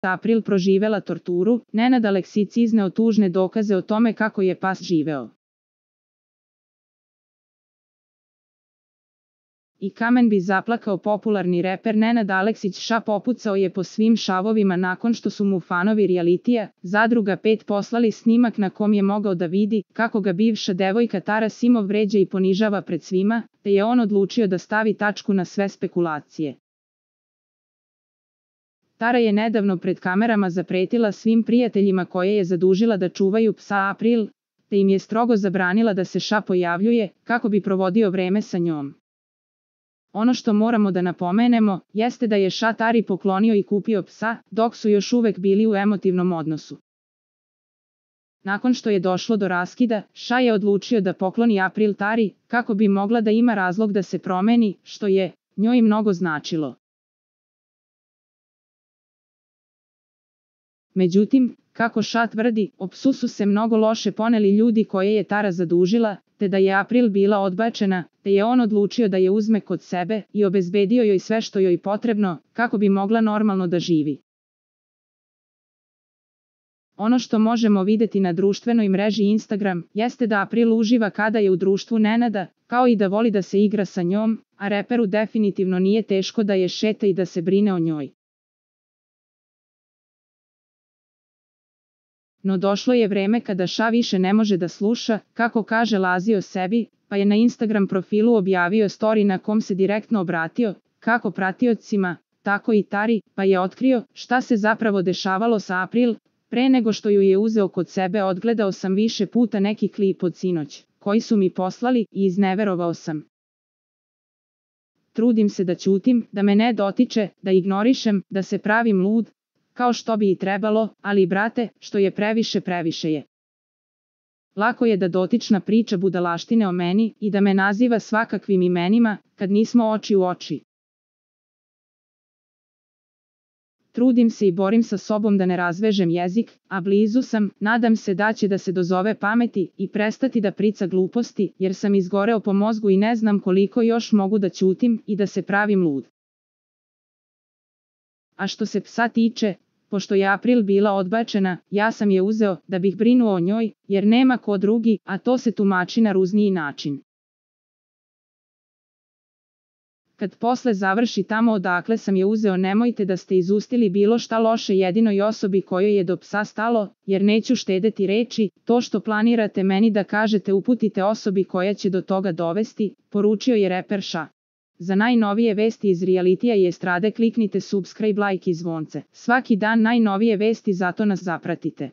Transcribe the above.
April proživela torturu, Nenad Aleksić izneo tužne dokaze o tome kako je pas živeo. I kamen bi zaplakao. Popularni reper Nenad Aleksić popucao je po svim šavovima nakon što su mu fanovi realitija Zadruga 5 poslali snimak na kom je mogao da vidi kako ga bivša devojka Tara Simov vređa i ponižava pred svima, te je on odlučio da stavi tačku na sve spekulacije. Tara je nedavno pred kamerama zapretila svim prijateljima koje je zadužila da čuvaju psa April, te im je strogo zabranila da se pojavljuje kako bi provodio vreme sa njom. Ono što moramo da napomenemo, jeste da je Tari poklonio i kupio psa, dok su još uvek bili u emotivnom odnosu. Nakon što je došlo do raskida, je odlučio da pokloni April Tari, kako bi mogla da ima razlog da se promeni, što je njoj mnogo značilo. Međutim, kako tvrdi, o psu su se mnogo loše poneli ljudi koje je Tara zadužila, te da je April bila odbačena, te je on odlučio da je uzme kod sebe i obezbedio joj sve što joj potrebno, kako bi mogla normalno da živi. Ono što možemo videti na društvenoj mreži Instagram, jeste da April uživa kada je u društvu Nenada, kao i da voli da se igra sa njom, a reperu definitivno nije teško da je šeta i da se brine o njoj. No došlo je vreme kada više ne može da sluša, kako kaže Lazi o sebi, pa je na Instagram profilu objavio story na kom se direktno obratio, kako pratiocima, tako i Tari, pa je otkrio šta se zapravo dešavalo sa April. Pre nego što ju je uzeo kod sebe odgledao sam više puta neki klip od sinoć, koji su mi poslali i izneverovao sam. Trudim se da ćutim, da me ne dotiče, da ignorišem, da se pravim lud, kao što bi i trebalo, ali brate, što je previše, previše je. Lako je da dotična priča budalaštine o meni i da me naziva svakakvim imenima, kad nismo oči u oči. Trudim se i borim sa sobom da ne razvežem jezik, a blizu sam, nadam se da će da se dozove pameti i prestati da prica gluposti, jer sam izgoreo po mozgu i ne znam koliko još mogu da ćutim i da se pravim lud. A što se psa tiče, pošto je April bila odbačena, ja sam je uzeo da bih brinuo o njoj, jer nema ko drugi, a to se tumači na ružniji način. Kad posle završi tamo odakle sam je uzeo, nemojte da ste izustili bilo šta loše jedinoj osobi kojoj je do psa stalo, jer neću štedeti reči, to što planirate meni da kažete uputite osobi koja će do toga dovesti, poručio je reper Za najnovije vesti iz realitija i estrade kliknite subscribe, like i zvonce. Svaki dan najnovije vesti, zato nas zapratite.